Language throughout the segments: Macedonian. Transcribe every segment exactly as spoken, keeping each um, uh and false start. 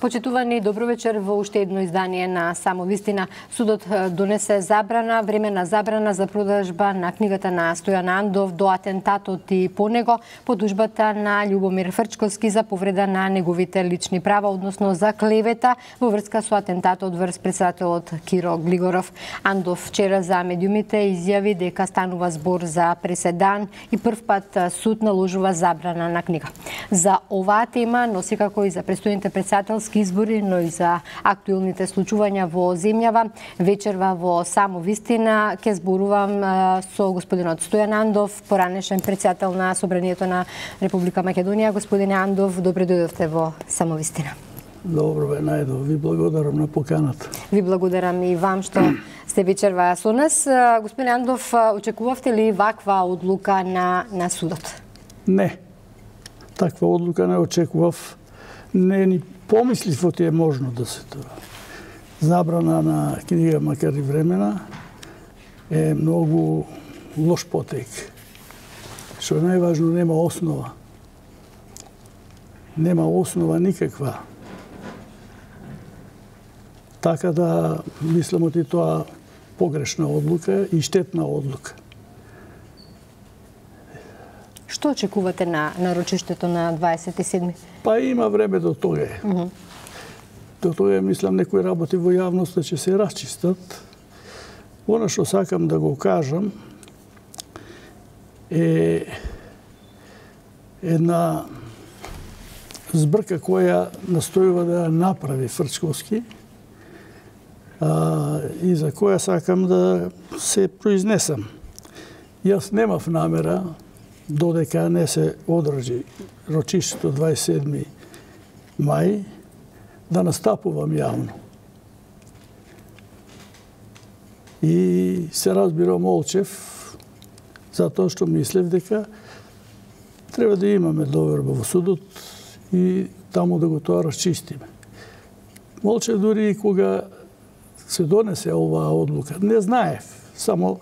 Почитувани, добро вечер. Во уште едно издание на Само вистина. Судот донесе забрана, времена забрана за продажба на книгата на Стојан Андов до атентатот и по него, по тужбата на Љубомир Фрчковски за повреда на неговите лични права, односно за клевета во врска со атентатот врз председателот Киро Глигоров. Андов вчера за медиумите изјави дека станува збор за преседан и прв пат суд наложува забрана на книга. За оваа тема, но секако и за престојните председателски избори, но и за актуелните случувања во земјава, вечерва во Само вистина ќе зборувам со господинот Стојан Андов, поранешен председател на Собранието на Република Македонија. Господине Андов, добре дојдовте во Само вистина. Добро бе, најдо. Ви благодарам на поканата. Ви благодарам и вам што сте вечерва со нас. Господин Андов, очекувавте ли ваква одлука на, на судот? Не. Таква одлука не очекував. Не ни помислив оти е можно да се тоа. Забрана на книга, макар и времена, е многу лош потек. Што е најважно, нема основа. Нема основа никаква. Така да, мислам оти тоа погрешна одлука и штетна одлука. Што очекувате на нарочиштето на дваесет и седми? Па има време до тога. Mm -hmm. До тога, мислам, некои работи во јавноста ќе се расчистат. Она што сакам да го кажам е една збрка која настојува да ја направи Фрчковски а, и за која сакам да се произнесам. Јас немав намера, додека не се одржи рочиштето дваесет и седми мај, да настапувам јавно. И се разбира молчев, затоа што мислев дека треба да имаме доверба во судот и таму да го тоа расчистиме. Молчев дури и кога се донесе оваа одлука. Не знаев, само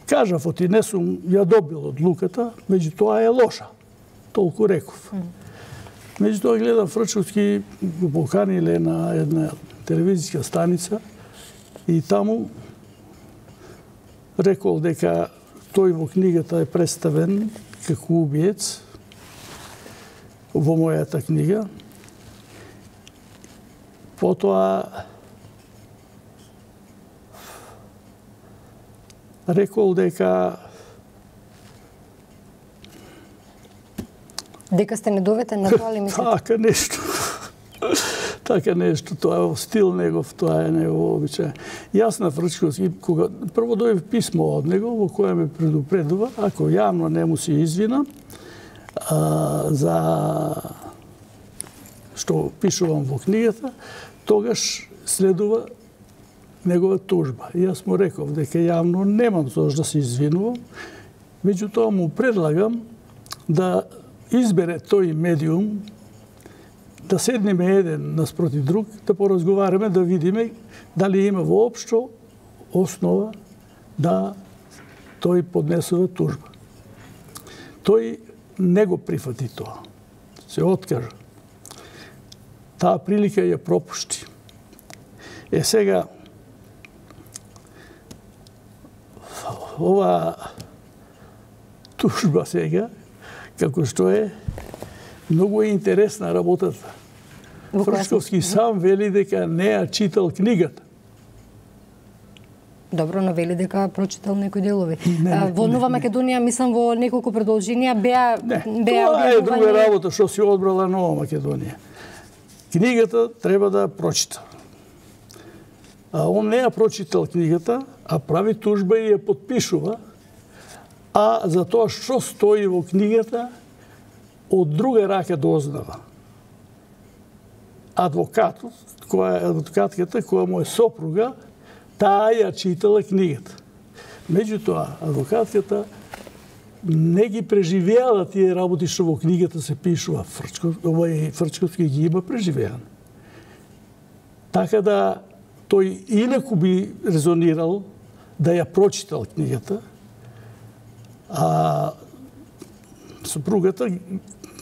кажав, оти не сум ја добил одлуката, меѓутоа е лоша. Толку реков. Mm. Меѓутоа гледам Фрчковски го поканиле на една телевизиска станица и таму рекол дека тој во книгата е представен како убиец во мојата книга. Потоа рекол дека дека сте недоветен на тоа ли мислите? Така нешто. Така нешто, тоа е стил негов, тоа е негов обичај. Јас на Фрчковски, кога прво дојде писмо од него во кое ме предупредува, ако јавно не му се извинам а, за што пишувам во книгата, тогаш следува негова тужба. И јас му реков дека јавно немам зошто да се извинувам, меѓутоа му предлагам да избере тој медиум, да седнеме еден наспроти друг, да поразговараме, да видиме дали има воопшто основа да тој поднесува тужба. Тој не го прифати тоа. Се откажа. Таа прилика ја пропушти. Е сега, ова тужба сега, како што е, многу е интересна работата. Фрчковски сам вели дека не ја читал книгата. Добро, но вели дека прочитал некои делови. Не, не, во Нова Македонија, мислам, во неколку продолженија беа... Не, беа тоа е друга работа што си одбрала Нова Македонија. Книгата треба да прочита. А он не ја прочитал книгата, а прави тужба и ја подпишува, а за тоа што стои во книгата, од друга рака дознава. Адвокатот, која е адвокатката, која му е сопруга, таа ја читала книгата. Меѓутоа, адвокатката не ги преживеала тие работи што во книгата се пишува. Овој Фрчковски ги има преживеан. Така да тој инаку би резонирал да ја прочитал книгата, а сопругата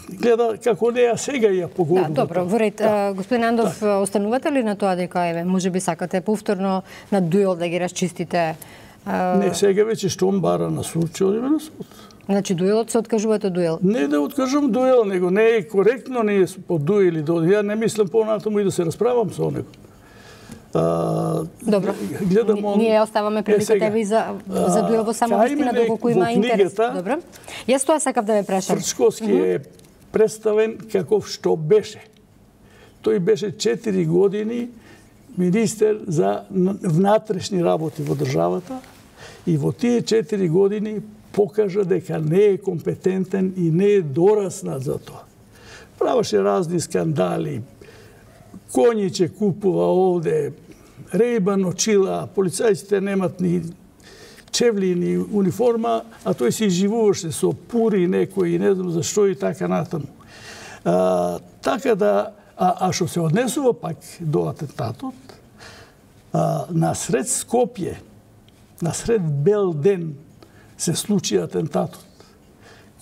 гледа како неа сега ја погодува. Да, добро, во ред. Да. Господин Андов, да. Останувате ли на тоа дека еве можеби сакате повторно на дуел да ги расчистите? Не, сега веќе што он бара на суд, ќе одиме на суд. Значи дуелот се откажувате дуел? Не да откажам дуел, него не е коректно ние по дуел или до. Ја не мислам понатаму и да се расправам со него. А, Добро. Гледам он... Ние оставаме приликата ви за за дуел во само вистина доколку има интерес. Добро. Јас тоа сакав да ве прашам. Фрчковски mm -hmm. е представен каков што беше. Тој беше четири години министер за внатрешни работи во државата и во тие четири години покажа дека не е компетентен и не е дораснат за тоа. Правеше разни скандали, коњиче купува овде, Рейбан очила, полицајците немат ни чевли, ни униформа, а тој се изживуваше со пури некои, не знам зашто и така натаму. А, така да, а, а што се однесува пак до атентатот, а, насред Скопје, насред бел ден, се случи атентатот.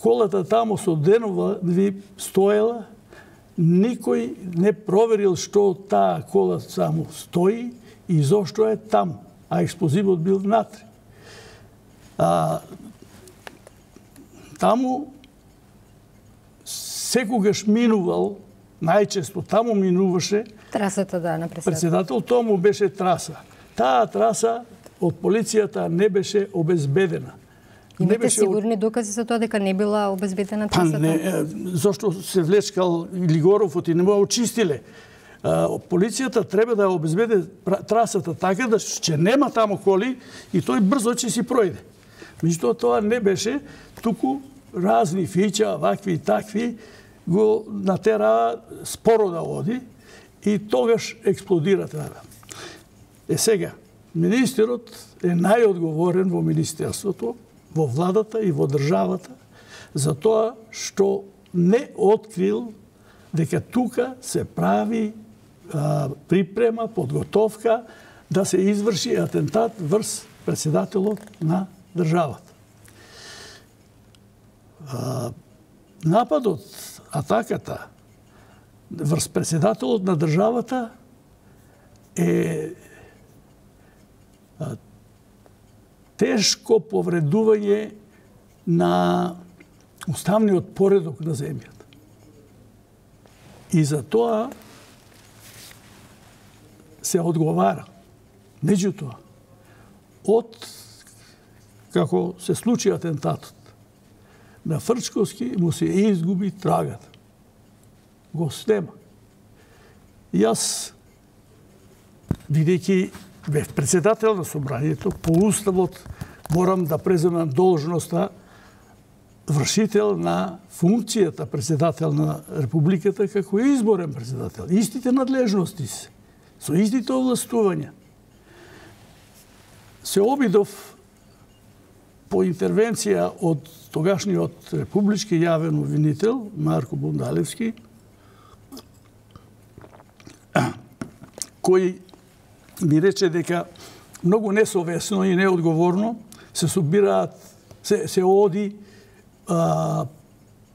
Колата тамо со денови стоела, никој не проверил што таа кола само стои и зошто е таму, а експлозивот бил внатре. А, таму секогаш минувал, најчесто таму минуваше трасата да на председател. Председател, тому беше траса. Таа траса од полицијата не беше обезбедена. Имате сигурни докази за тоа дека не била обезбедена трасата? Па не, зашто се влечкал Лигоровот и не му очистиле. Полицијата треба да обезбеде трасата така да ќе нема таму коли и тој брзо ќе си пројде. Меѓутоа тоа не беше, туку разни фиќа, вакви и такви, го натера споро да оди и тогаш експлодира трава. Е сега, министерот е најодговорен во министерството, во владата и во државата, за тоа што не открил дека тука се прави а, припрема, подготовка да се изврши атентат врз председателот на државата. А, нападот, атаката врз председателот на државата е а, тешко повредување на уставниот поредок на земјата. И за тоа се одговара. Меѓутоа, од како се случи атентатот, на Фрчковски му се изгуби трагата. Го снема. Јас, бидејќи бев председател на собранието, по уставот морам да преземам должноста вршител на функцијата председател на Републиката како изборен председател. Истите надлежности се, со истите овластувања. Се обидов по интервенција од тогашниот републички јавен обвинител Марко Бундалевски, кој ми рече дека многу несовесно и неодговорно се собираат, се, се оди а,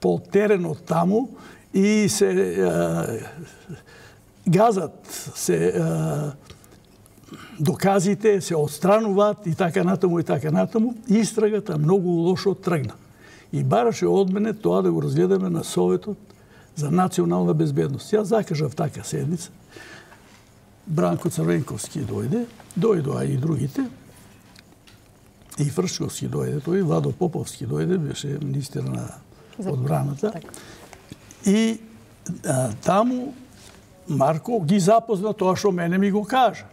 по теренот таму и се а, газат, се а, доказите, се отстрануваат и така натаму и така натаму. Истрагата многу лошо тргна. И бараше од мене тоа да го разгледаме на Советот за национална безбедност. Јас закажав така седница. Бранко Црвенковски дојде, дојдоа и другите, и Фрчковски дојде, тој Владо Поповски дојде, беше министер на одбраната. И а, таму Марко ги запозна тоа што мене ми го кажа.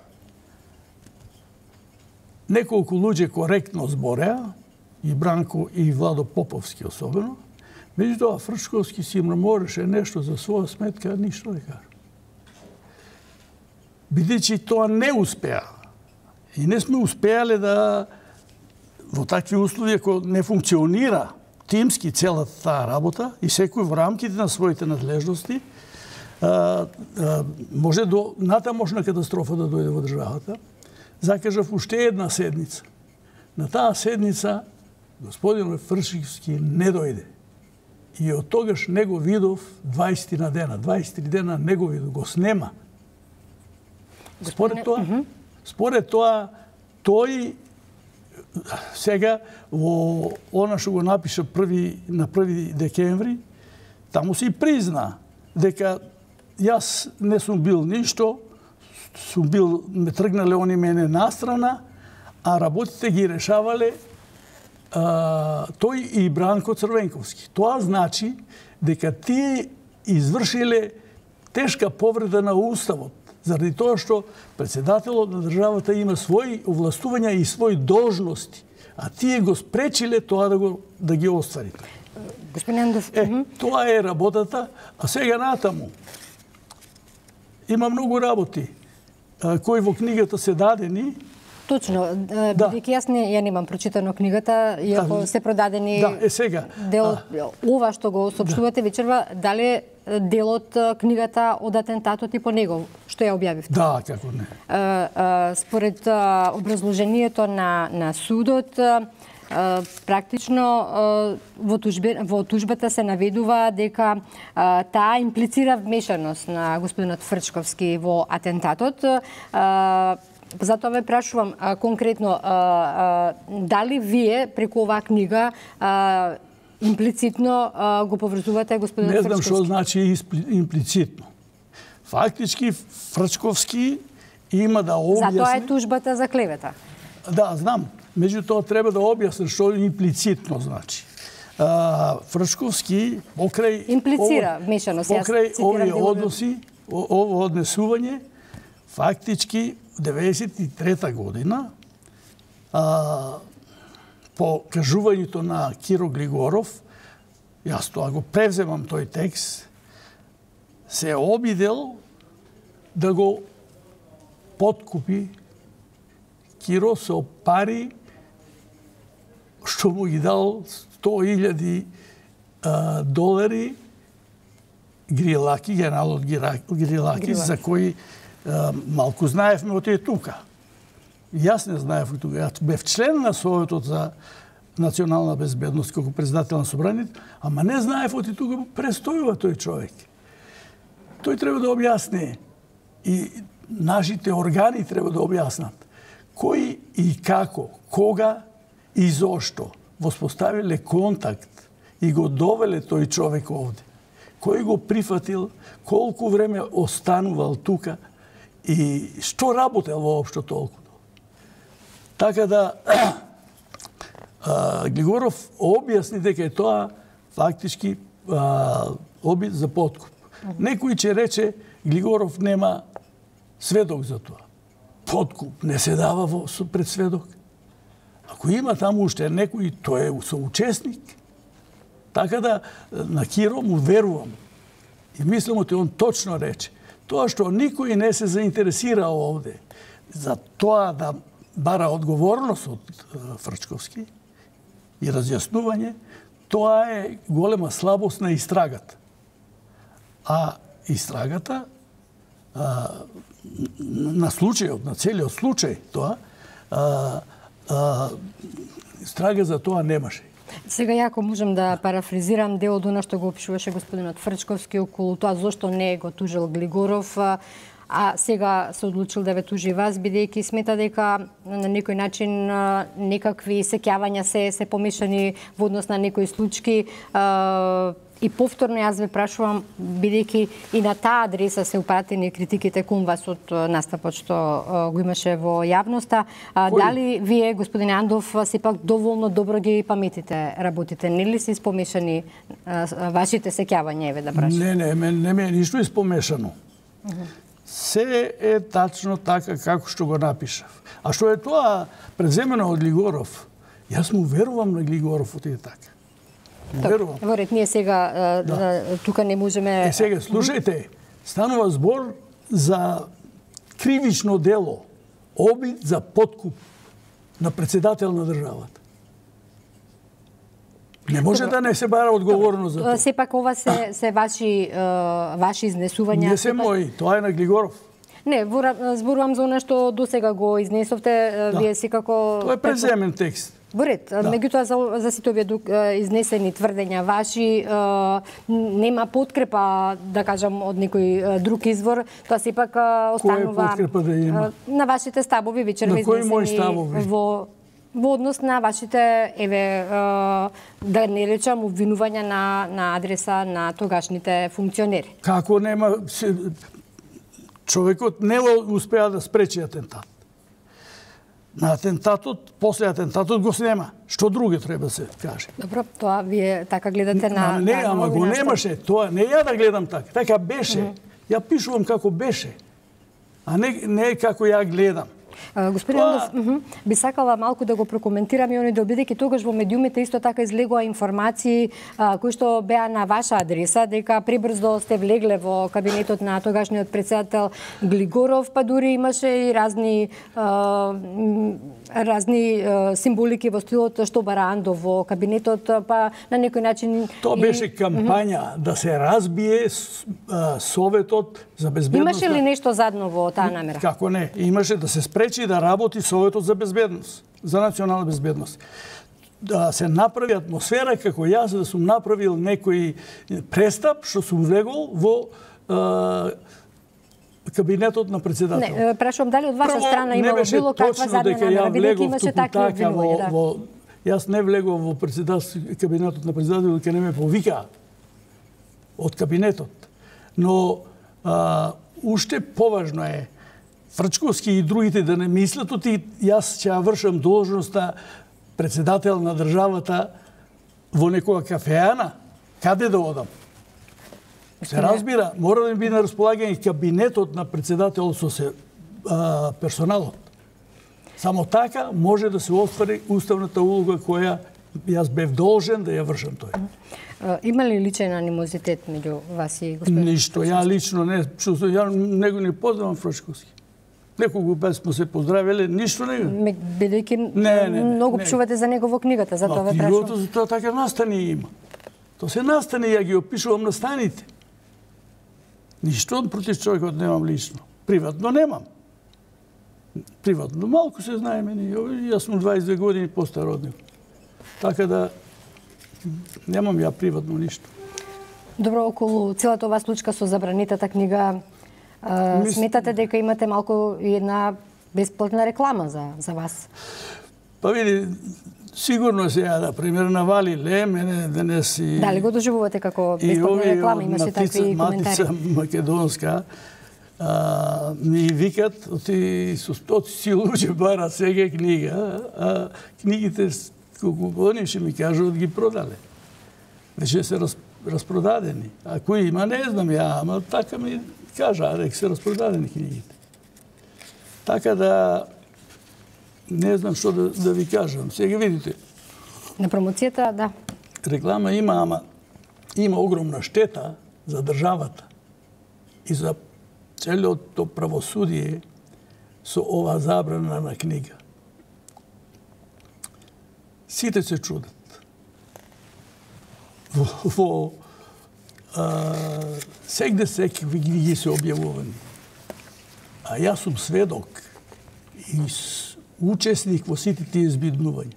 Неколку луѓе коректно збореа, и Бранко и Владо Поповски особено, меѓутоа Фрчковски си мореше нешто за своја сметка, ништо не кажа. Бидејќи тоа не успеа. И не сме успеале да во такви услови, ако не функционира тимски целата таа работа и секој во рамките на своите надлежности, а, а, може до натамошна катастрофа да дојде во државата. Закажав уште една седница. На таа седница господин Фрчковски не дојде. И од тогаш не го видов дваесет на дена. дваесет дена не го видов, го снема. Според тоа, според тоа, тој сега во она што го напиша први, на први декември, таму се и призна дека јас не сум бил ништо, сум бил, ме тргнале они мене настрана, а работите ги решавале а, тој и Бранко Црвенковски. Тоа значи дека тие извршиле тешка повреда на Уставот, заради тоа што председателот на државата има своји овластувања и своји должности, а тие го спречиле тоа да, го, да ги оствари. Господин Андов, е, тоа е работата, а сега натаму. Има многу работи кои во книгата се дадени. Точно, бидејќи јас не ја немам прочитано книгата, иако да, се продадени да, е сега. Дел ова што го соопштувате да. вечерва, дали дел од книгата од атентатот и по него, што ја објавивте? Да, како не. Според образложението на, на судот, практично во, тужбе, во тужбата се наведува дека таа имплицира вмешаност на господинот Фрчковски во атентатот. Затоа ве прашувам конкретно, дали вие преку оваа книга имплицитно го поврзувате господинот Фрчковски? Не знам што значи имплицитно. Фактички Фрчковски има да објасни... Затоа е тужбата за клевета. Да, знам. Меѓутоа треба да објасни што имплицитно значи. Фрчковски покрај... Имплицира вмешаност. Покрај овие односи, ово однесување, фактички деветдесет и трета година, а, по кажувањето на Киро Глигоров, јас тоа го превземам тој текст, се обидел да го подкупи Киро со пари што му ги дал сто илјади долари Грилаки, генералот Грилаки, за кој малку знаевме од тие тука. Јас не знаев од тука. Јас бев член на Советот за национална безбедност како председател на собранието, ама не знаев од тука престојува тој човек. Тој треба да објасни и нашите органи треба да објаснат кој и како, кога и зошто воспоставиле контакт и го довеле тој човек овде. Кој го прифатил, колку време останувал тука и што работел воопшто толку. Така да а, Глигоров објасни дека е тоа фактички а, обид за подкуп. Некој ќе рече Глигоров нема сведок за тоа. Подкуп не се дава во, пред сведок. Ако има таму уште некој, тој е соучесник. Така да на Киро му верувам. И мислам ότι он точно рече. Тоа што никој не се заинтересира овде за тоа да бара одговорност од Фрчковски и разјаснување, тоа е голема слабост на истрагата. А истрагата а, на случајот, на целиот случај, тоа, а, а, истрага за тоа немаше. Сега јако можам да парафризирам дел од она што го опишуваше господинот Фрчковски околу тоа зошто не го тужил Глигоров, а сега се одлучил да ве тужи вас, бидејќи смета дека на некој начин некакви сеќавања се се помешани во однос на некои случаи. И повторно јас ве прашувам, бидејќи и на таа адреса се упратени критиките кон вас од настапот што го имаше во јавноста, дали вие, господин Андов, сепак доволно добро ги паметите работите? Не ли се испомешани вашите сеќавања, еве да прашам? Не, не, не, не ме е ништо испомешано. Uh -huh. Се е тачно така како што го напишав. А што е тоа преземено од Глигоров? Јас му верувам на Глигоров од е така. Верувам. Во ред, ние сега да. тука не можеме... Е, сега, слушајте, станува збор за кривично дело, обид за подкуп на председател на државата. Не може Добро. да не се бара одговорност за тоа. Сепак ова се, се ваши, ваши изнесувања. Не се сепак... мои, тоа е на Глигоров. Не, зборувам за она што досега го изнесовте, да. Вие секако... Тоа е преземен текст. Во ред, да. Меѓутоа за, за сите овие изнесени тврдења ваши нема подкрепа, да кажам, од некој друг извор, тоа сепак останува да има? На вашите ставови вечерва изнесени во во однос на вашите, еве, да не речам, обвинувања на, на адреса на тогашните функционери. Како нема... Човекот не успеа да спречи атентат. На атентатот, после атентатот го снема. Што друго треба да се каже? Добро, тоа вие така гледате на... Не, на, ама го немаше. Тоа не ја да гледам така. Така беше. Mm -hmm. Ја пишувам како беше. А не, не како ја гледам. Господин Андов, Тоа... би сакала малку да го прокоментирам и они да бидејќи тогаш во медиумите исто така излегува информации а, кои што беа на ваша адреса, дека прибрзо сте влегле во кабинетот на тогашниот председател Глигоров, па дури имаше и разни а, разни а, символики во стилот што бара Андов во кабинетот, па на некој начин... Тоа беше кампања mm -hmm. да се разбие а, Советот за безбедност. Имаше ли нешто задно во таа намера? Како не, имаше да се спречи да работи Советот за безбедност, за национална безбедност. Да се направи атмосфера како јас да сум направил некој престап што сум влегол во а, кабинетот на председател. Не, прашувам дали од ваша страна имало било каква задна намера, бидејќи имаше такви обвинувања, да. Во, јас не влегов во председател, кабинетот на председател, дека не ме повика од кабинетот. Но а, уште поважно е Фрчковски и другите да не мислат оти јас ќе ја вршам должноста председател на државата во некоја кафеана. Каде да одам? Се разбира, мора да ми биде на располагање кабинетот на председател со се а, персоналот. Само така може да се оствари уставната улога која јас бев должен да ја вршам тој. Има ли личен анимозитет меѓу вас и господин? Ништо, ја лично не чувствувам, ја него не познавам Фрчковски. Некогу без сме се поздравиле, ништо не. Бидејќи многу пишувате за него во книгата, затоа ве прашувам. Книгата за тоа така настани има. Тоа се настани, ја ги опишувам на станите. Ништо против човекот немам лично. Приватно немам. Приватно малку се знае мене. Јас сум дваесет две години постар од него. Така да немам ја приватно ништо. Добро, околу целата оваа случка со забранетата книга, Мис... сметате дека имате малку една бесплатна реклама за, за вас? Па види, сигурно се ја, да пример, навали ле, мене денес и... Дали го доживувате како бесплатна реклама? Имаше такви коментари? Матица Македонска а, ми викат, оти стотици луѓе бара сега книга, а книгите, колку они ще ми кажат, ги продале. Веќе се раз, распродадени. А кои има, не знам ја, ама така ми кажа, дека се распродадени книгите. Така да не знам што да, да ви кажам. Сега видите. На промоцијата, да. Реклама има, ама има огромна штета за државата и за целото правосудие со ова забрана на книга. Сите се чудат. Во, во а, сегде секакви книги се објавувани. А јас сум сведок и учесник во сите тие збиднувања.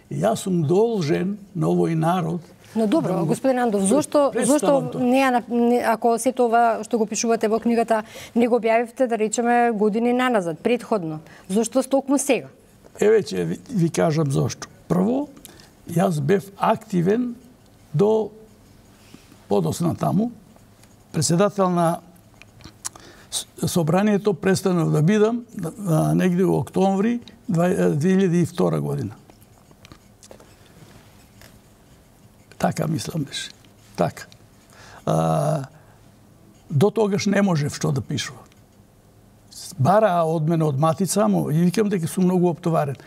И јас сум должен на овој народ. Но добро, да, господин Андов, зошто зошто не, не ако сето ова што го пишувате во книгата не го објавивте, да речеме, години наназад, претходно? Зошто токму сега? Еве ќе ви, ви кажам зошто. Прво, јас бев активен до подосна таму. Председател на собранието престанав да бидам негде во октомври две илјади и втора година. Така мислам беше. Така. А, до тогаш не можев што да пишувам. Бара од мене од матица, му и викам дека сум многу оптоварен.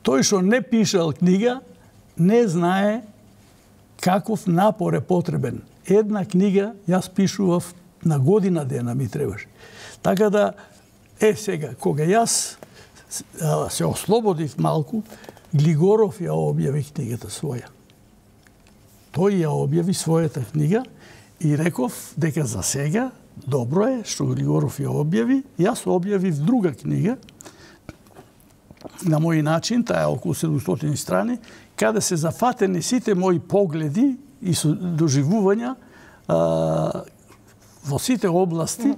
Тој што не пишал книга, не знае каков напор е потребен. Една книга јас пишував на година дена ми требаше. Така да, е сега, кога јас се ослободив малку, Глигоров ја објави книгата своја. Тој ја објави својата книга и реков дека за сега добро е што Глигоров ја објави. Јас објавив друга книга на мој начин, таа е околу седумстотини страни, каде се зафатени сите мои погледи и доживувања а, во сите области,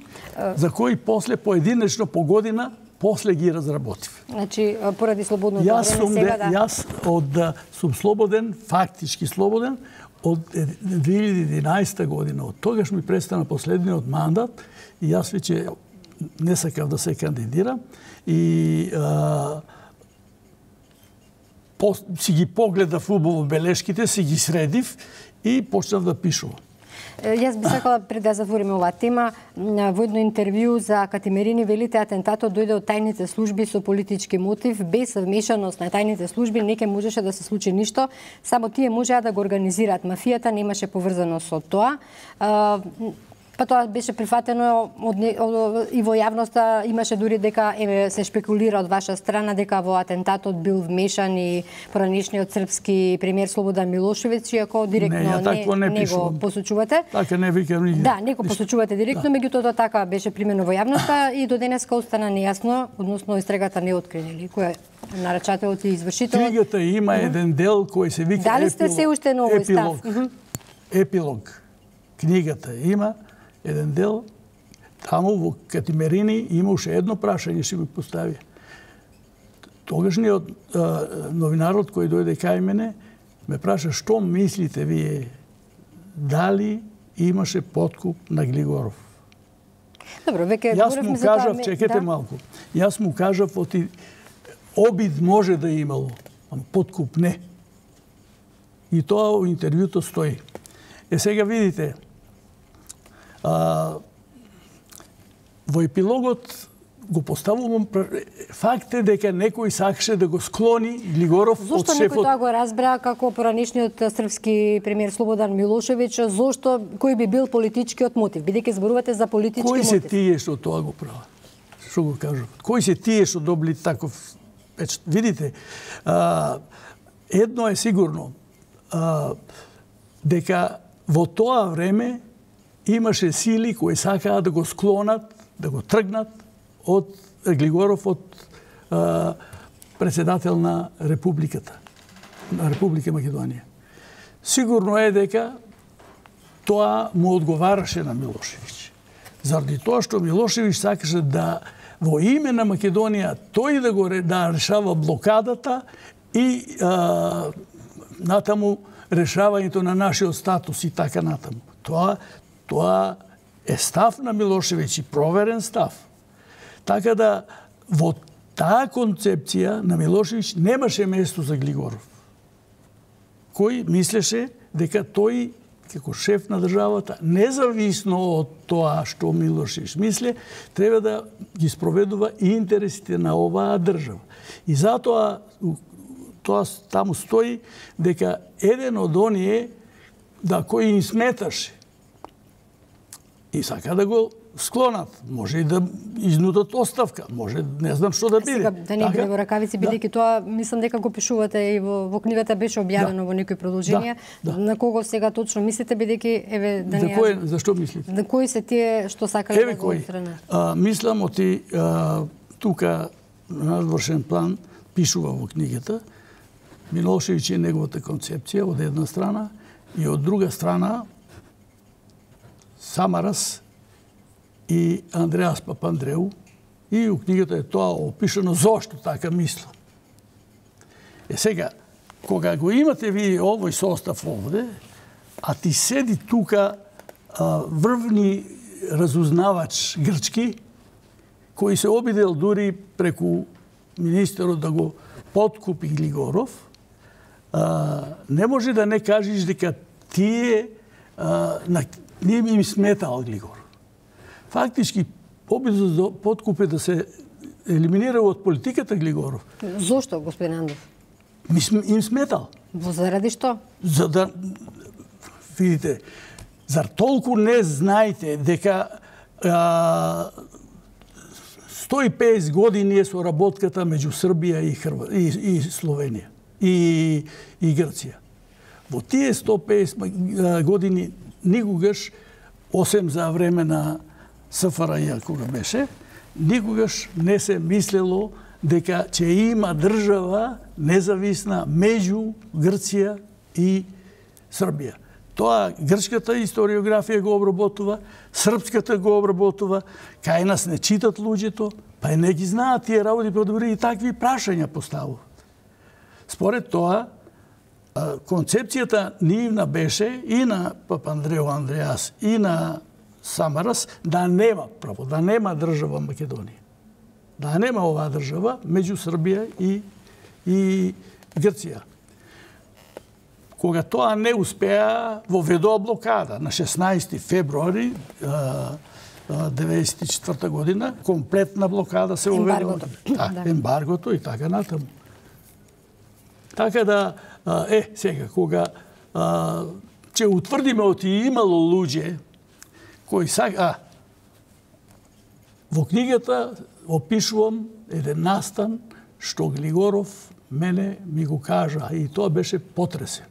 за кои после поединечно по година после ги разработив. Значи, поради слободното јас време сум, сега да... Јас од, сум слободен, фактички слободен, од две илјади и единаесета година. Од тогаш ми престана последниот мандат и јас веќе не сакав да се кандидирам и а, по, си ги погледав убаво белешките, си ги средив и почнав да пишувам. Јас би сакала пред да затвориме оваа тема, во едно интервју за Катимерини велите атентатот дојде од тајните служби со политички мотив, без вмешаност на тајните служби не ќе можеше да се случи ништо, само тие можеа да го организираат мафијата, немаше поврзано со тоа. Па тоа беше прифатено од, од, и во јавноста имаше дури дека е, се шпекулира од ваша страна дека во атентатот бил вмешан и поранешниот српски премиер Слободан Милошевиќ, иако директно не, не, не, не го посочувате. Така не викам нигде. Да, не го посочувате директно, да. Меѓутоа така беше примено во јавноста и до денеска остана нејасно, односно истрагата не открили кој е нарачателот и извршителот. Книгата има еден дел кој се вика Дали сте се уште на овој став? Епилог. Епилог. Книгата има еден дел, таму во Катимерини имаше едно прашање, ще го постави. Тогашниот новинарот кој дојде кај мене, ме праша што мислите вие, дали имаше подкуп на Глигоров. Добро, веќе Јас му кажав, чекете да. малку, јас му кажав, оти, обид може да имало, ама подкуп не. И тоа во интервјуто стои. Е сега видите, А, во епилогот го поставувам факт е дека некој сакаше да го склони Глигоров од шефот. Зошто некој тоа го разбра како поранешниот српски премиер Слободан Милошевиќ, зошто кој би бил политичкиот мотив? Бидејќи зборувате за политички кој мотив. Кој се тие што тоа го прават? Што го кажуват? Кој се тие што добили таков печат? Видите, а, едно е сигурно, а, дека во тоа време имаше сили кои сакаа да го склонат, да го тргнат од Глигоров од а, председател на Републиката, на Република Македонија. Сигурно е дека тоа му одговараше на Милошевиќ. Заради тоа што Милошевиќ сакаше да во име на Македонија тој да го да решава блокадата и а, натаму решавањето на нашиот статус и така натаму. Тоа Тоа е став на Милошевиќ и проверен став. Така да во таа концепција на Милошевиќ немаше место за Глигоров, кој мислеше дека тој како шеф на државата, независно од тоа што Милошевиќ мисле, треба да ги спроведува и интересите на оваа држава. И затоа тоа таму стои дека еден од оние да кој им сметаше и сака да го склонат. Може и да изнудат оставка, може не знам што да биде. Сега, да не биде во ракавици, бидејќи да. Тоа мислам дека го пишувате и во, во книгата беше објавено да. Во некои продолженија. Да. Да. На кого сега точно мислите, бидејќи еве да не. За кој, за што мислите? На кои се тие што сакале да го отстранат? А, мислам оти а, тука на надворшен план пишува во книгата Милошевиќ е неговата концепција од една страна и од друга страна Самарас и Андреас Папандреу, и у книгата е тоа опишано зошто така мислам. Е сега, кога го имате ви овој состав овде, а ти седи тука а, врвни разузнавач грчки, кој се обидел дури преку министерот да го подкупи Глигоров, а, не може да не кажеш дека тие а, на не им сметал Глигор. Фактички, обидот за подкуп е да се елиминира од политиката Глигоров. Зошто, господин Андов? Им сметал. Заради што? За да, видите, зар толку не знаете дека а, сто и петдесет години е соработката меѓу Србија и, Хрва, и, и Словенија и, и Грција. Во тие сто и петдесет години никогаш, осем за време на СФРЈ кога беше, никогаш не се мислело дека ќе има држава независна меѓу Грција и Србија. Тоа грчката историографија го обработува, српската го обработува, кај нас не читат луѓето, па и не ги знаат тие работи, па добри и такви прашања поставуваат. Според тоа, концепцијата нивна беше и на Папандрео Андреас и на Самарас да нема право, да нема држава Македонија. Да нема оваа држава меѓу Србија и, и Грција. Кога тоа не успеа, воведоа блокада на шеснаести февруари деветдесет и четврта година, комплетна блокада се воведоа. Ембаргото. Да, ембаргото и така натаму. Така да, е, сега, кога а, ќе утврдиме оти имало луѓе кои сака... Во книгата опишувам еден настан што Глигоров мене ми го кажа и тоа беше потресен.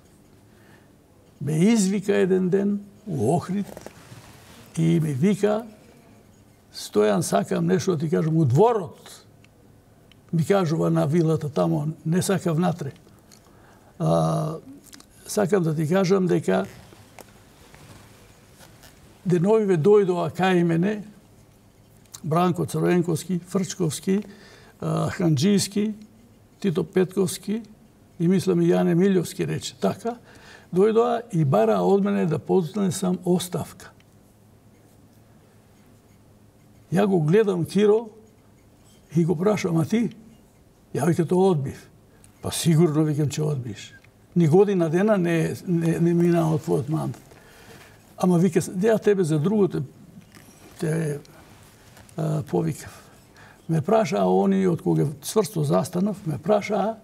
Ме извика еден ден у Охрид и ми вика: Стојан, сакам нешто да ти кажам, у дворот. Ми кажува на вилата тамо, не сакав внатре. А, сакам да ти кажам дека деновиве дојдоа кај мене Бранко Црвенковски, Фрчковски, Ханџијски, Тито Петковски и мислам и Јане Милјовски рече. Така, дојдоа и бара од мене да поднесам оставка. Ја го гледам Киро и го прашам: а ти? Ја веќе тоа одбив. Па сигурно викам че одбиш. Ни година дена не, не, не мина од твојот мандат. Ама вика, ја тебе за другото те а, повикав. Ме прашаа они, од кога цврсто застанав, ме прашаа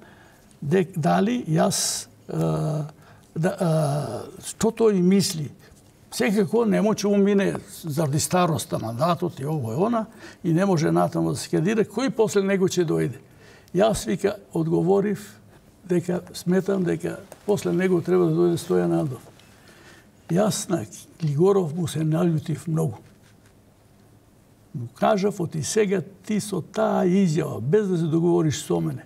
дек, дали јас а, да, а, што тој мисли. Секако не може умине заради староста мандатот и ово и она и не може натаму да се кандидира, кој после него ќе дојде. Јас вика одговорив дека сметам дека после него треба да дојде Стојан Андов. Јас на Глигоров му се налјутив многу. Му кажав: оти сега ти со таа изјава, без да се договориш со мене,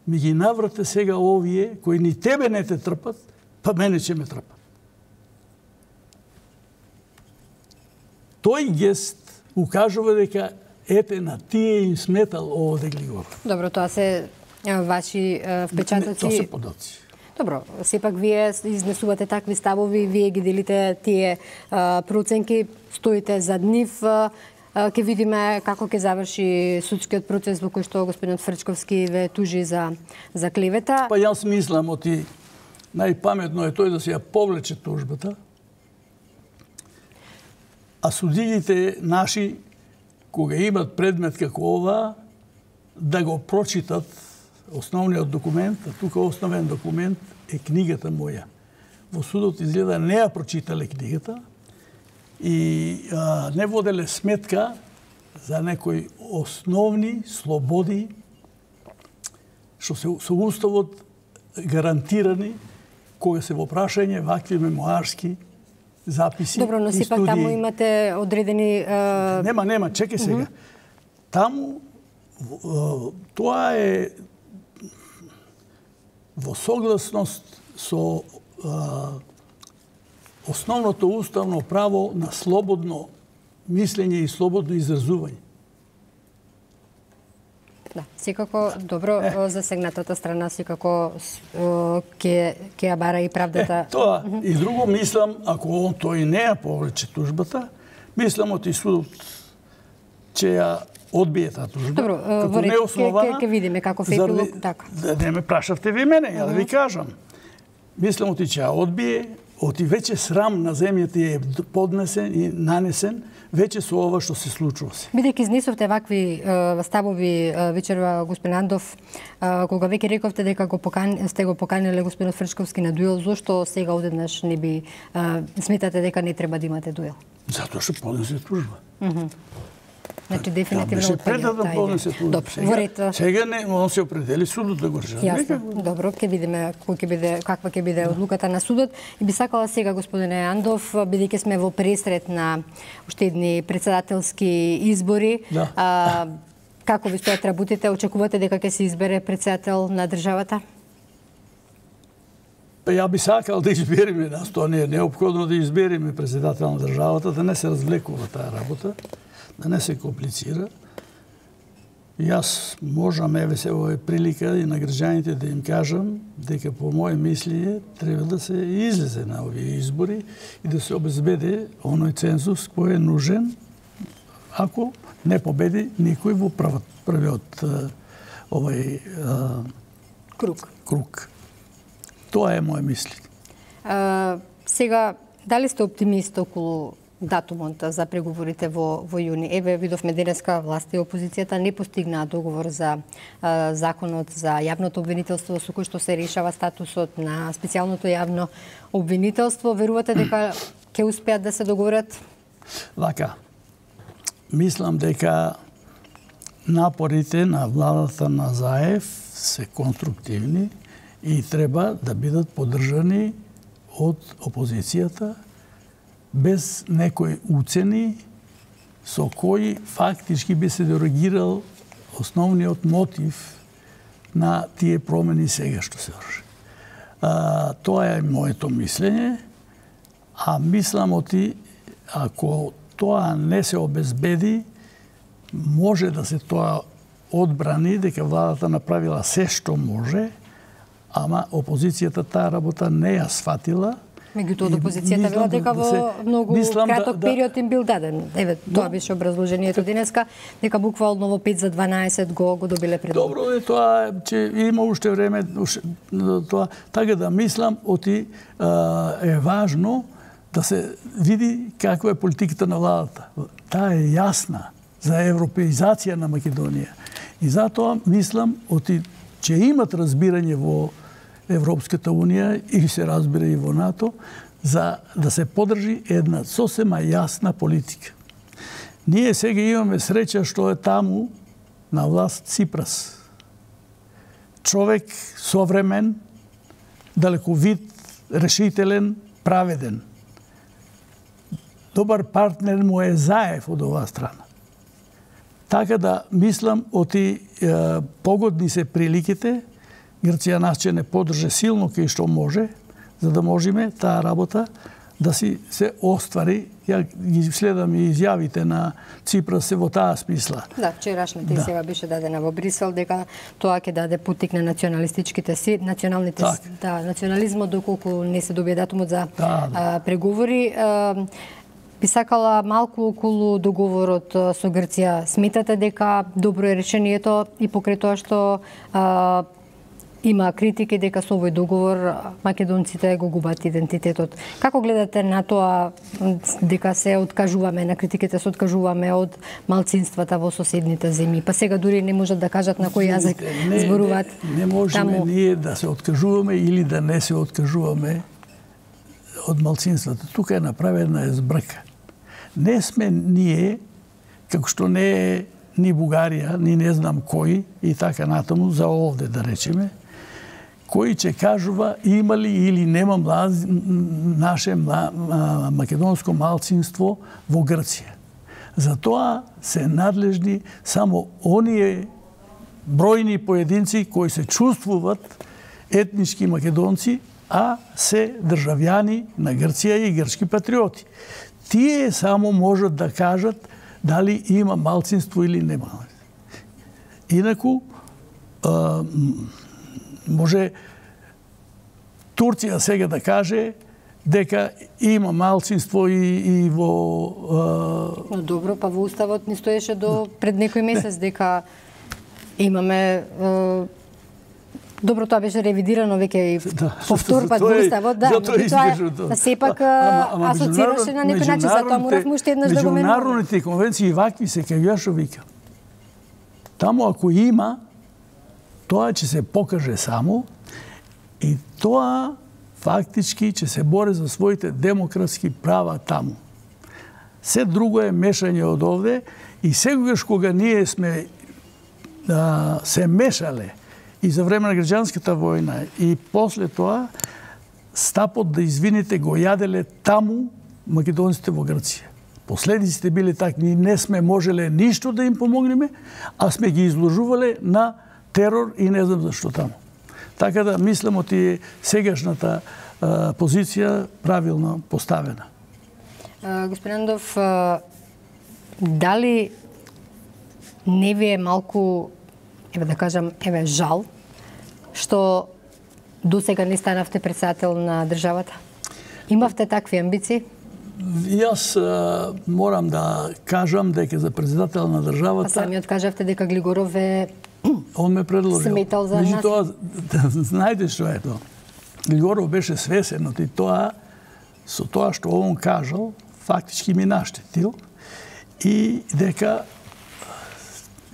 ми ги наврате сега овие кои ни тебе не те трпат, па мене ќе ме трпат. Тој гест укажува дека ете на тие им сметал овде Глигоров. Добро, тоа се ваши впечатоци. Тоа се подоци. Добро, сепак вие изнесувате такви ставови, вие ги делите тие проценки, стоите зад нив. Ке видиме како ќе заврши судскиот процес во кој што господинот Фрчковски ве тужи за за клевета. Па јас мислам оти најпаметно е тој да се ја повлече тужбата. А судиите наши, кога имат предмет како ова, да го прочитат основниот документ, а тука основен документ е книгата моја. Во судот изгледа не ја прочитале книгата и а, не воделе сметка за некои основни слободи што се со уставот гарантирани кога се во прашање вакви мемоарски записи. Добро, но сепак таму имате одредени... Uh... Нема, нема, чекај сега. Uh -huh. Таму uh, тоа е во согласност со uh, основното уставно право на слободно мислење и слободно изразување. Да, секако добро е. Засегнатата страна секако ќе ќе ја бара и правдата. Е, тоа mm -hmm. и друго мислам, ако он тој не ја повлече тужбата, мислам оти судот ќе ја одбие таа тужба. Добро, во ред, ќе ќе видиме како фепило така. Не ме прашавте ви мене, ја да ви кажам. Мислам оти ќе ја одбие, оти веќе срам на земјата е поднесен и нанесен веќе со ова што се случува се. Бидејќи изнесовте вакви е, ставови вечерва, господин Андов, е, кога веќе рековте дека го покан, сте го поканиле господинот Фрчковски на дуел, зошто сега одеднаш не би е, сметате дека не треба да имате дуел? Затоа што поднесе тужба. Mm -hmm. Значи дефинитивно отпаѓа да поднесе тужба. Добро, во ред. Сега не, он се определи судот да го реши. Јасно. Добро, ќе видиме кој ќе биде, каква ќе биде одлуката на судот. И би сакала сега, господине Андов, бидејќи сме во пресрет на уште едни председателски избори, да. а, Како ви стојат работите? Очекувате дека ќе се избере председател на државата? Ја би сакал да избериме нас, тоа не е неопходно да избериме председател на државата, да не се развлекува таа работа, да не се комплицира. Јас можам, еве се ова е прилика и на граѓаните да им кажам дека по моје мислење треба да се излезе на овие избори и да се обезбеди оној цензус кој е нужен ако не победи никој во првот, првиот овој а, круг. круг. Тоа е моје мислење. А, сега, дали сте оптимист околу датумот за преговорите во, во јуни? Еве, видовме денеска власта и опозицијата не постигнаа договор за а, законот за јавното обвинителство со кој што се решава статусот на специјалното јавно обвинителство. Верувате дека ќе успеат да се договорат? Вака, мислам дека напорите на владата на Заев се конструктивни и треба да бидат поддржани од опозицијата без некои уцени со кои фактички би се дерогирал основниот мотив на тие промени сега што се врши. А, тоа е моето мислење, а мислам оти ако тоа не се обезбеди, може да се тоа одбрани дека владата направила се што може, ама опозицијата таа работа не ја сватила. Меѓутоа, од опозицијата вела дека во се, многу краток да, период им бил даден. Еве, тоа беше образложението денеска, дека буквално во пет за дванаесет го го добиле пред. Добро е тоа, че има уште време, тоа, така да мислам, оти е важно да се види каква е политиката на владата. Таа е јасна за европеизација на Македонија. И затоа мислам, оти, че имат разбирање во Европската Унија и се разбира и во НАТО, за да се подржи една сосема јасна политика. Ние сега имаме среќа што е таму на власт Ципрас. Човек современ, далековид, решителен, праведен. Добар партнер му е Заев од оваа страна. Така да мислам, оти е, погодни се приликите, Грција нас ќе не подрже силно кај што може, за да можеме таа работа да си се оствари. Ја ги следам и изјавите на Ципрас се во таа смисла. Да, вчерашната да. Сега беше дадена во Брисел дека тоа ќе даде путтик на националистичките си, националните так. Да, национализмот доколку не се добие датумот за да, да. А, преговори. А, би сакала малку околу договорот со Грција. Сметате дека добро е решението и покрај тоа што а, има критики дека со овој договор македонците го губат идентитетот. Како гледате на тоа дека се откажуваме на критиките, се откажуваме од малцинствата во соседните земји? Па сега дури не можат да кажат на кој јазик зборуваат. Не, не можеме таму... ние да се откажуваме или да не се откажуваме од малцинствата. Тука е направена збрка. Не сме ние, како што не е ни Бугарија, ни не знам кој и така натаму, за овде да речеме, кој ќе кажува има ли или нема млаз... наше мла... македонско малцинство во Грција. За тоа се надлежни само оние бројни поединци кои се чувствуваат етнички македонци, а се државјани на Грција и грчки патриоти. Тие само можат да кажат дали има малцинство или нема. Инаку, а, може Турција сега да каже дека има малцинство и, и во... А... Но добро, па во Уставот ни стоеше до пред некој месец дека имаме... А... Добро, тоа беше ревидирано веќе и да, повтор пат во Уставот, да, тоа сепак асоцираше на некој начин, затоа моравме уште еднаш да го менуваме. Меѓународните конвенции вакви се кај ја што вика. Таму ако има, тоа ќе се покаже само и тоа фактички ќе се бори за своите демократски права таму. Се друго е мешање од овде и секогаш кога ние сме а, се мешале и за време на граѓанската војна и после тоа стапот да извините го јаделе таму македонците во Грција. последиците биле такви, не сме можеле ништо да им помогнеме, а сме ги изложувале на терор и не знам зашто таму. Така да мислам оти сегашната а, позиција правилно поставена. А, господин Андов, а, дали не ви е малку, еве да кажам, еве жал, што досега не станавте председател на државата? Имавте такви амбиции? Јас а, морам да кажам дека за председател на државата... А самиот кажавте дека Глигоров е... Он ме предложил. Сметал за нас. Тоа, знаете што е тоа? Глигоров беше свесен од тоа, со тоа што он кажал, фактички ми наштетил и дека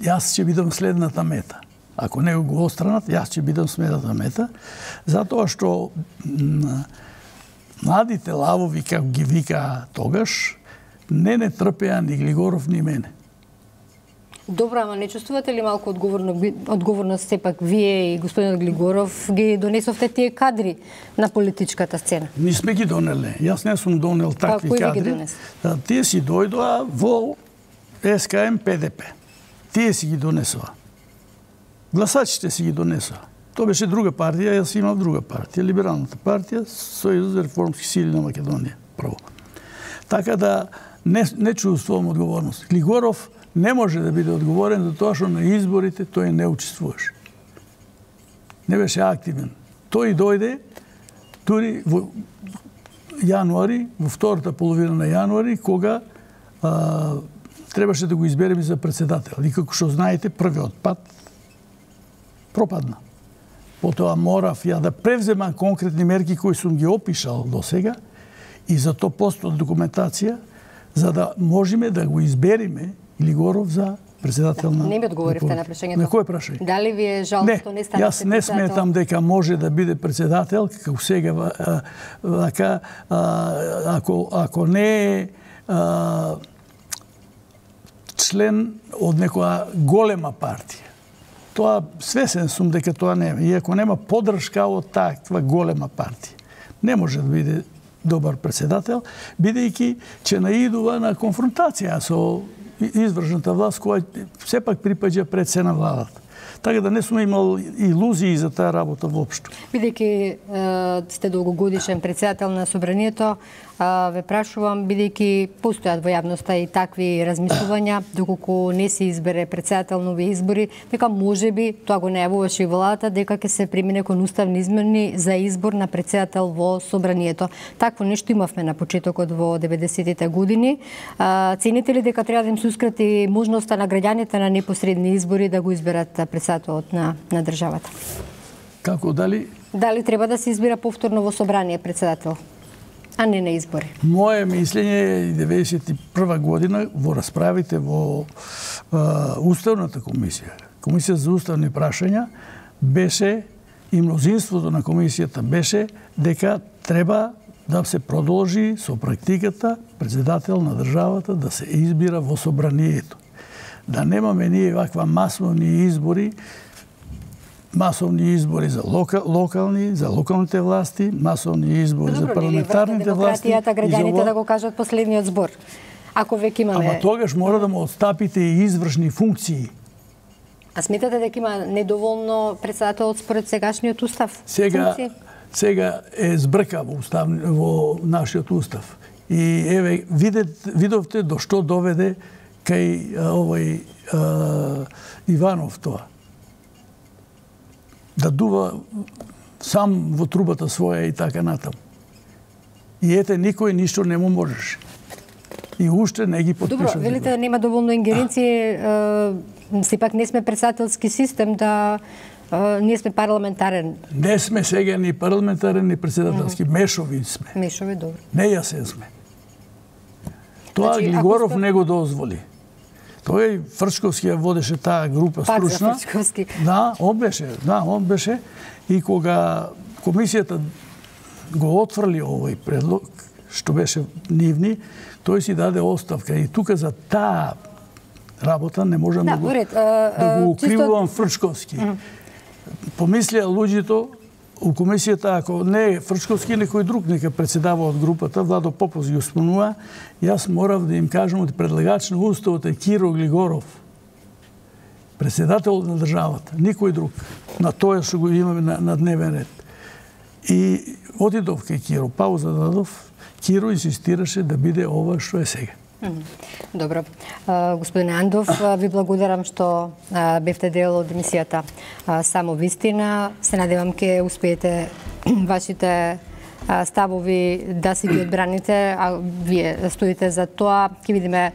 јас ќе бидам следната мета. Ако не го остранат, јас ќе бидам следната мета, затоа што младите лавови, како ги вика тогаш, не не трпеа ни Глигоров ни мене. Добро, ама не чувствувате ли малку одговорно, одговорност сепак вие и господинот Глигоров ги донесовте тие кадри на политичката сцена? Не сме ги донеле. Јас не сум донел такви кој кадри. ги донес? Да, тие си дојдоа во Ес Ка Ем Пе Де Пе. Тие си ги донесоа. Гласачите си ги донесоа. Тоа беше друга партија, јас имав друга партија, Либералната партија, Сојуз за реформски сили на Македонија, прво. Така да не, не чувствувам одговорност. Глигоров не може да биде одговорен за тоа што на изборите тој не учествуваше. Не беше активен. Тој дојде дури во јануари, во втората половина на јануари, кога а, требаше да го избереме за председател. И како што знаете, првиот пат пропадна. Потоа морав ја да превземам конкретни мерки кои сум ги опишал до сега и за тоа постои документација за да можеме да го избериме Глигоров за председател на... Не ми одговоривте на прашањето. На кој прашање? Дали ви е жал што не станете јас не сметам дека може да биде председател, како сега, вака, ако, ако не е член од некоја голема партија. Тоа свесен сум дека тоа нема. И ако нема поддршка од таква голема партија, не може да биде добар председател, бидејќи ќе наидува на конфронтација со извршната власт, која сепак припаѓа пред се на владата. Така да не сум имал илузии за таа работа воопшто. Бидејќи сте долгогодишен председател на Собранието, ве прашувам, бидејќи постојат во јавноста и такви размислувања, доколку не се избере председател на овие избори, дека можеби, тоа го најавуваше и владата, дека ќе се премине кон уставни измени за избор на председател во Собранието. Такво нешто имавме на почетокот во деветдесетите години. Цените ли дека треба да им се ускрати можноста на граѓаните на непосредни избори да го изберат председателот на, на државата? Како, дали? Дали треба да се избира повторно во собрание председател, а не на избори? Моje мислење е деветдесет и прва година во расправите во а, Уставната комисија. Комисија за уставни прашања беше и мнозинството на комисијата беше дека треба да се продолжи со практиката председател на државата да се избира во собранието. Да немаме ние ваква масовни избори, масовни избори за лока, локални, за локалните власти, масовни избори Добро, за парламентарните власти. Демократијата, граѓаните да го кажат последниот збор. Ако веќе имаме... Ама тогаш мора да му отстапите и извршни функции. А сметате дека има недоволно председателот според сегашниот устав? Сега, функции? сега е збрка во, устав, во нашиот устав. И еве, видет, видовте до што доведе кај овој а, Иванов тоа. Да дува сам во трубата своја и така натаму. И ете, никој ништо не му можеше. И уште не ги подпишува. Добро, велите да нема доволно ингеренции, сепак не сме председателски систем, да ние сме парламентарен. Не сме сега ни парламентарен, ни председателски. Mm -hmm. Мешови сме. Мешови, добро. Нејасен сме. Тоа значи, Глигоров сме... не го дозволи. Тој Фрчковски ја водеше таа група Пак стручна. Пак за Фрчковски. Да, он беше, да, он беше. И кога комисијата го отфрли овој предлог, што беше нивни, тој си даде оставка. И тука за таа работа не можам да, да, го, ред, да го укривувам чисто... Фрчковски. Mm -hmm. Помислија луѓето у комисијата, ако не е Фрчковски, некој друг нека председава од групата, Владо Попов ги спомнува, јас морав да им кажам од предлагач на уставот е Киро Глигоров, председател на државата, никој друг. На тоа што го имаме на, на дневен ред. И отидов кај Киро, пауза дадов, Киро инсистираше да биде ова што е сега. Добро. Господине Андов, ви благодарам што бевте дел од емисијата Само вистина. Се надевам ке успеете вашите ставови да си ги одбраните, а вие стоите за тоа. Ќе видиме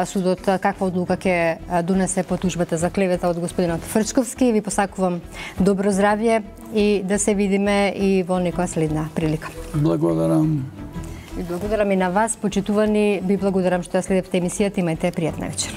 судот каква одлука ќе донесе по тужбата за клевета од господинот Фрчковски. Ви посакувам добро здравје и да се видиме и во некоја следна прилика. Благодарам. Ви благодарам и на вас, почитувани. Ви благодарам што ја следевте емисијата. Имајте пријатна вечер.